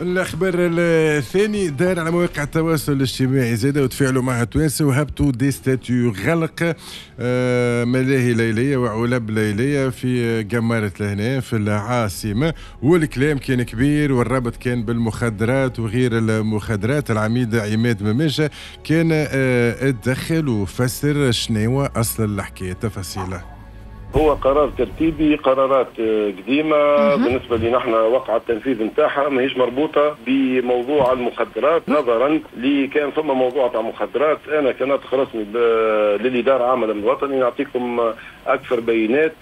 الاخبار الثاني دار على مواقع التواصل الاجتماعي زاد وتفاعلوا مع التوانسة وهبطوا des statuts، غلق ملاهي ليليه وعلب ليليه في قمارة لهنا في العاصمه، والكلام كان كبير والربط كان بالمخدرات وغير المخدرات. العميد عماد مماشة كان اتدخل وفسر شنو اصل الحكايه، تفاصيله. هو قرار ترتيبي، قرارات قديمة بالنسبة لنا احنا وقع التنفيذ نتاعها، ماهيش مربوطة بموضوع المخدرات. نظرا لكان ثم موضوع تاع مخدرات، انا كناطق رسمي للادارة العامة للامن الوطني نعطيكم اكثر بيانات.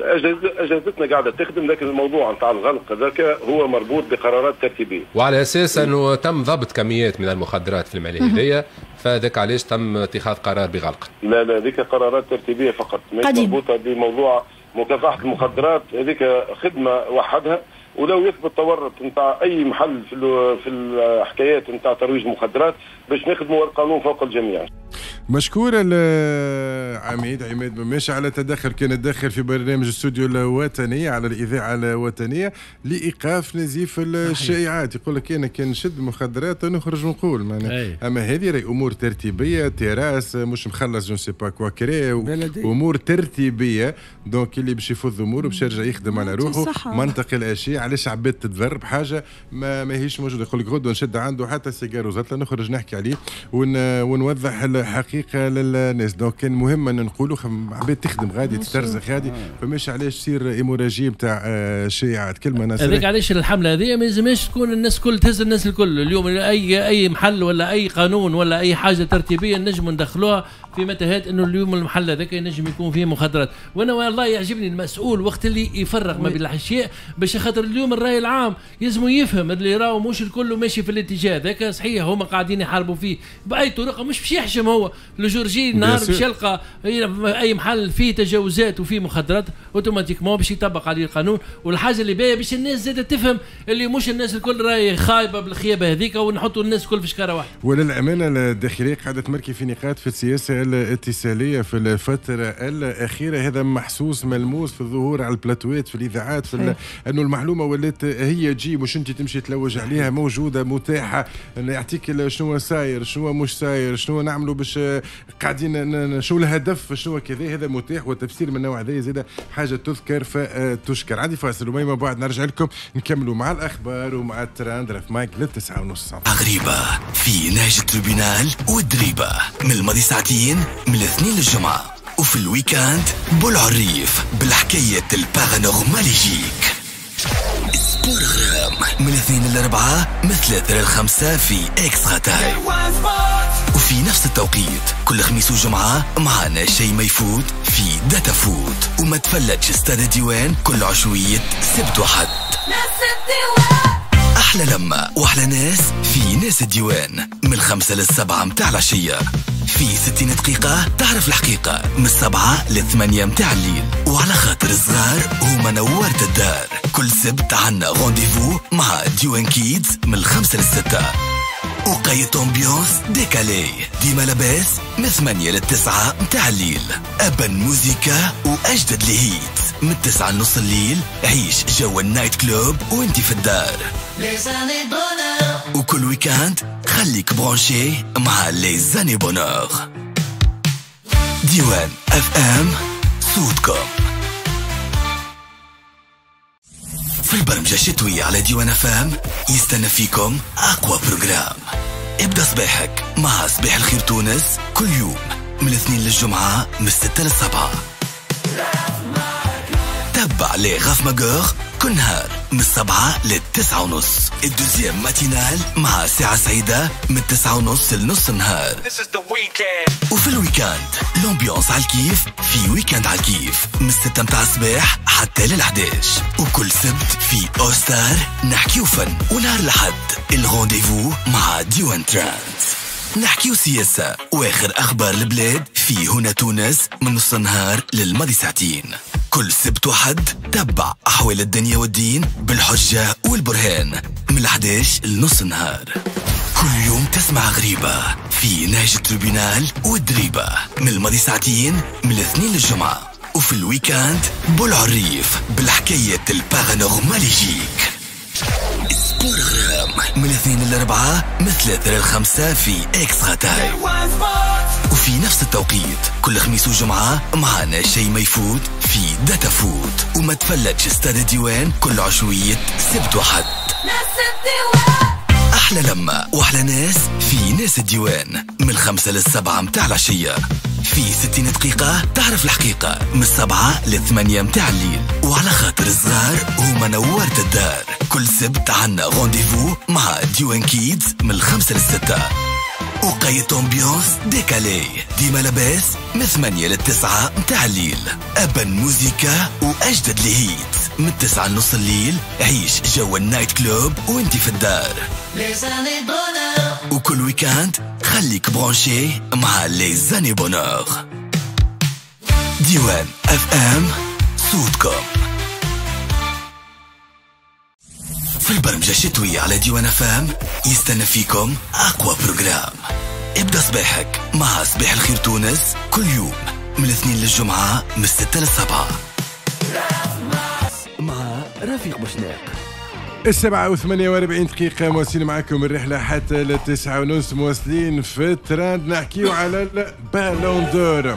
اجهزتنا قاعدة تخدم، لكن الموضوع نتاع الغلق هذاك هو مربوط بقرارات ترتيبيه. وعلى اساس انه تم ضبط كميات من المخدرات في الملاهي هذيا، فذاك علاش تم اتخاذ قرار بغلق. لا لا، هذيك قرارات ترتيبيه فقط، ماهيش مربوطة بموضوع مكافحة المخدرات. هذيك خدمة وحدها، ولو يثبت تورط نتاع أي محل في الحكايات نتاع ترويج المخدرات باش نخدموا القانون فوق الجميع. مشكور العميد عماد مماشة على تدخل، كان الداخل في برنامج استوديو الوطنية على الإذاعة الوطنية لإيقاف نزيف الشائعات. يقول لك أنا كان نشد مخدرات نخرج ونقول معناها، أما هذه راهي أمور ترتيبية، تراس مش مخلص je sais pas quoi كري، أمور ترتيبية. donc اللي باش يفض أموره باش يرجع يخدم على روحه، منطق الأشياء. علاش عباد تتضرب حاجة ماهيش موجودة؟ يقول لك غدوة نشد عنده حتى سيجار وزطلة نخرج نحكي عليه ونوضح الحقيقة للناس. donc كان مهم ان نقولوا عباد تخدم غادي تسترزق غادي، فماش علاش تصير hémorragie نتاع شائعات. كلمة ناس هذيك علاش الحملة هذه ما يلزمش تكون الناس الكل تهز الناس الكل. اليوم اي محل ولا اي قانون ولا اي حاجة ترتيبيه نجم ندخلوها في متاهات انه اليوم المحل هذاك ينجم يكون فيه مخدرات. وانا والله يعجبني المسؤول وقت اللي يفرق ما بين الاشياء، باش خاطر اليوم الراي العام يلزم يفهم اللي راهو مش الكل ماشي في الاتجاه هذاك. صحيح هما قاعدين يحاربوا فيه باي طريقه، مش باش يحشم هو le jour J نهار باش يلقى اي محل فيه تجاوزات وفيه مخدرات automatiquement باش يطبق عليه القانون. والحاجة اللي باهيه باش الناس زادة تفهم اللي مش الناس الكل راهي خايبة بالخيابه هذيك، ونحطوا الناس الكل في شكاره واحدة. وللامانة الداخلية قاعدة تمركي في نقاط في السياسة الاتصاليه في الفترة الاخيرة، هذا محسوس ملموس في الظهور على البلاتوات في الاذاعات، في انه المعلومة ولات هي تجي مش انت تمشي تلوج عليها، موجودة متاحة، يعطيك شنو صاير شنو مش صاير شنو نعملوا باش قاعدين شو الهدف شنو كذا. هذا متاح، والتفسير من النوع هذا زاد حاجة تذكر فتشكر. عندي فاصل وما بعد نرجع لكم نكملوا مع الاخبار ومع التراند رف مايك لل9:30. غريبة في نهج ال tribunal والدريبه من الماضي ساعتين من الاثنين للجمعة، وفي ال week-end بالعريف بالحكاية ال paranormaligique. sport غرام من الاثنين للاربعه من 3 ل5 في Extra Time، وفي نفس التوقيت كل خميس وجمعة معنا شيء ما يفوت في داتا فوت. وما تفلتش استاد الديوان كل عشوية سبت وحد. أحلى لمة وأحلى ناس في ناس الديوان من 5 ل7 متاع العشية، في 60 دقيقة تعرف الحقيقة من 7 ل8 متاع الليل. وعلى خاطر الصغار هما نورت الدار، كل سبت عنا rendez-vous مع ديوان Kids من 5 ل6. وقيت ambiance décalée ديما لاباس من 8 ل9 متاع الليل. أبن موزيكا وأجدد les hits من 9 لنص الليل، عيش جو ال night club وانت في الدار. وكل week-end خليك branché مع les années bonheur. ديوان FM صوتكم. في البرمجة الشتوية على ديوان FM يستنى فيكم أقوى programme. ابدأ صباحك مع صباح الخير تونس كل يوم من الاثنين للجمعة من 6 ل7. تبع les Raf Magueurs كل نهار من 7 ل9:30. ال deuxième matinale مع ساعة سعيدة من 9:30 لنص النهار. وفي ال week-end l'ambiance على الكيف في week-end على الكيف من 6 متاع الصباح حتى لل11. وكل سبت في أوستار نحكيو فن، ونهار الأحد ال rendez-vous مع ديوان تراند نحكيو سياسة واخر أخبار البلاد في هنا تونس من نص النهار للماضي ساعتين. كل سبت وحد تبع أحوال الدنيا والدين بالحجة والبرهان من 11 لنص النهار. كل يوم تسمع غريبة في نهج ال tribunal والدريبة من الماضي ساعتين من الاثنين للجمعة. وفي ال week-end بالعريف بالحكاية ال paranormaligique. Sport من الاثنين للأربعاء من 3 لل5 في Extra Time، وفي نفس التوقيت كل خميس وجمعة معنا شيء ما يفوت في Data Foot، وما تفلتش استاد الديوان كل عشوية سبت وحد. أحلى لمة وأحلى ناس في ناس الديوان من 5 لل7 متاع العشية. في 60 دقيقة تعرف الحقيقة من 7 ل8 متاع الليل. وعلى خاطر الصغار هما نورت الدار، كل سبت عنا rendez-vous مع ديوان Kids من 5 لل6. وقيت ambiance décalée ديما لاباس من 8 لل9 متاع الليل. أبن موزيكا وأجدد les hits من 9 لنص الليل، عيش جو ال night club وانت في الدار. وكل week-end خليك branché مع les années bonheur. ديوان FM، صوتكم. في البرمجة الشتوية على ديوان FM يستنى فيكم أقوى programme. ابدأ صباحك مع صباح الخير تونس كل يوم من الاثنين للجمعة من 6 لل7 مع رفيق بوشناق. 7:48 دقيقة، مواصلين معكم الرحلة حتى ل9:30، مواصلين في التراند. نحكيو على ال Ballon d'Or،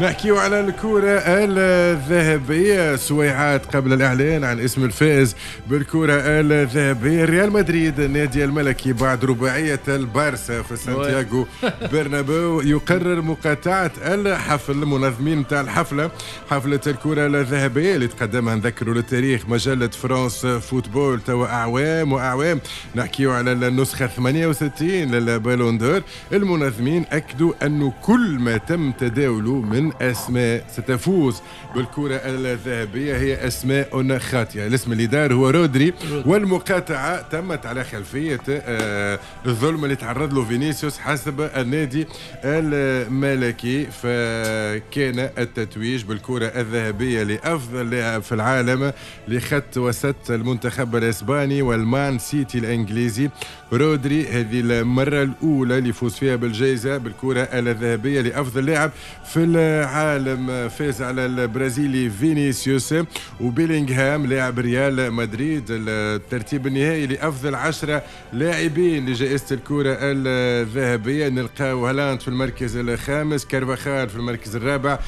نحكيو على الكرة الذهبية. سويعات قبل الإعلان عن اسم الفائز بالكرة الذهبية، ريال مدريد النادي الملكي بعد رباعية البارسا في سانتياغو برنابيو يقرر مقاطعة الحفل. المنظمين نتاع الحفلة، حفلة الكرة الذهبية اللي تقدمها، نذكروا للتاريخ، مجلة فرانس فوتبول توا أعوام وأعوام، نحكيو على النسخة 68 لل Ballon d'Or، المنظمين أكدوا أنه كل ما تم تداوله من أسماء ستفوز بالكرة الذهبية هي أسماء خاطئة. الاسم اللي دار هو رودري، والمقاطعة تمت على خلفية الظلم اللي تعرض له فينيسيوس حسب النادي الملكي. فكان التتويج بالكرة الذهبية لأفضل لاعب في العالم لخط وسط المنتخب الإسباني والمان سيتي الإنجليزي رودري. هذه المرة الأولى اللي يفوز فيها بالجائزة، بالكرة الذهبية لأفضل لاعب في العالم. فاز على البرازيلي فينيسيوس وبيلينغهام لاعب ريال مدريد. الترتيب النهائي لأفضل 10 لاعبين لجائزة الكرة الذهبية، نلقاو هالاند في المركز الخامس، كارفاخال في المركز الرابع.